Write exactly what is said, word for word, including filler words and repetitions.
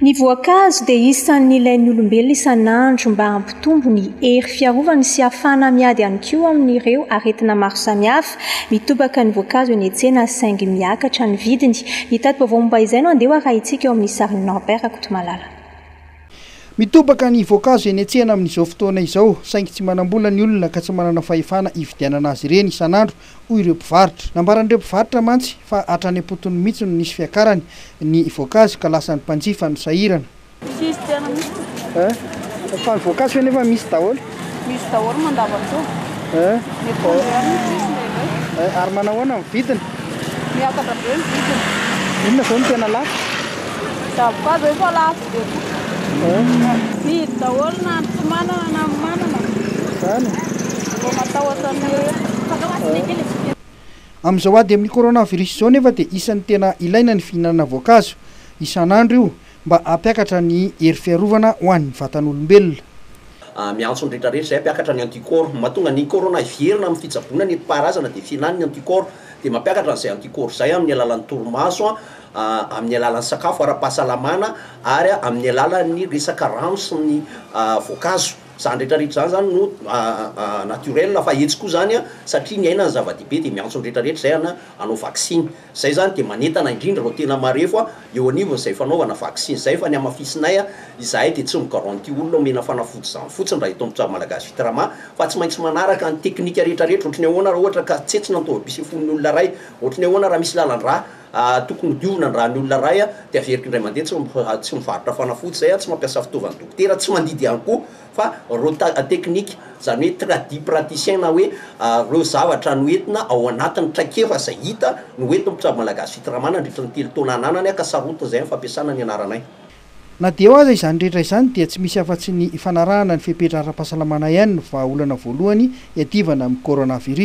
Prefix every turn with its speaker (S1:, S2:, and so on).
S1: Ny voankazo dia isan'ny ilain'ny olombelona isan'andro mba hampitombo ny hery fiarovany sy hahafahana miady ihany koa amin'ireo aretina maro samihafa. Mitobaka ny voankazo eny an-tsena saingy miakatra ny vidiny. Ny tati-baovao momba izay no andeha ho arahintsika eo amin'ny sarin'i Norbert Rakotomalala.
S2: Mitobaka ny voankazo eny an-tsena amin'izao fotoana izao, saingy tsy manam-bola ny olona ka tsy manana fahefana hividianana azy ireny isan'andro, hoy ireo mpivarotra. Nambaran'ireo mpivarotra mantsy fa hatrany am-potony mihitsy no nisy fiakarany ny voankazo ka lasa ny mpanjifa no sahirana.
S3: Tsisy tena mihitsy.
S2: Fa ny voankazo nefa misy daholo?
S3: Misy daholo mandavantaona. Ny akondro ihany no tsisy indraindray.
S2: Ary manao ahoana ny vidiny?
S3: Miakatra be ny vidiny.
S2: Inona izao no tena lafo?
S3: Zavoka zao efa lafo be koa. Mihidy daholo na ny tsy manana na ny manana.
S2: Zany.
S3: Vao matahotra ny
S2: Amin'izao ady amin'ny coronavirus izao nefa dia isan'ny tena ilaina ny fihinanana voankazo isan'andro io mba hampiakatra ny hery fiarovana ho an'ny vatan'olombelona.
S4: Miantso ny rehetrarehetra izay hampiakatra ny anticorps. Mahatonga ny corona hiverina amin'ny fitsaboana ny nentim-paharazana dia fihinanana ny anticorps, dia mampiakatra an'izay anticorps izay amin'ny alalan'ny torimaso, amin'ny alalan'ny sakafo ara-pahasalamana ary amin'ny alalan'ny resaka rano sy ny voankazo. Izany rehetrarehetra izany zany no naturel, fa etsy koa zany satria ny aina ny zava-dehibe dia miantso ny rehetrarehetra izay ana hanao vaksiny. Izay zany dia manentana indrindra ireo tena marefo eo anivon'izay fanaovana vaksiny izay, fa ny hamafisinay izahay dia tsy migaranty olona omena fanafody izany fotsiny raha eto amin'ny Mpitsabo Malagasy Fitrama, fa tsy maintsy manaraka ny teknika rehetrarehetra. Ohatry ny ahoana raha ohatra ka tsetsina ny taovam-pisefoan'ny olona iray, ohatry ny ahoana raha misy lalan-drà tokony hodiovina ny ràn'ny olona iray, dia averiko indray mandeha tsy tsy mivarotra fanafody izay, tsy mampiasa fitaovan'ny dokotera, tsy mandidy ihany koa, fa ireo teknika, izany hoe tradipraticien na hoe ireo zavatra noentina ao anatin'ny traikefa izay hita no entin'ny Mpitsabo Malagasy Fitrama nandritra ny telo taona ananany, ka sarotiny izay amin'ny fampiasana ny anaranay.
S2: Na dia eo aza izany rehetra izany dia tsy misy afa-tsy ny fanarahana ny fepetra ara-pahasalamana ihany no vahaolana voalohany hiadivana amin'ny coronavirus.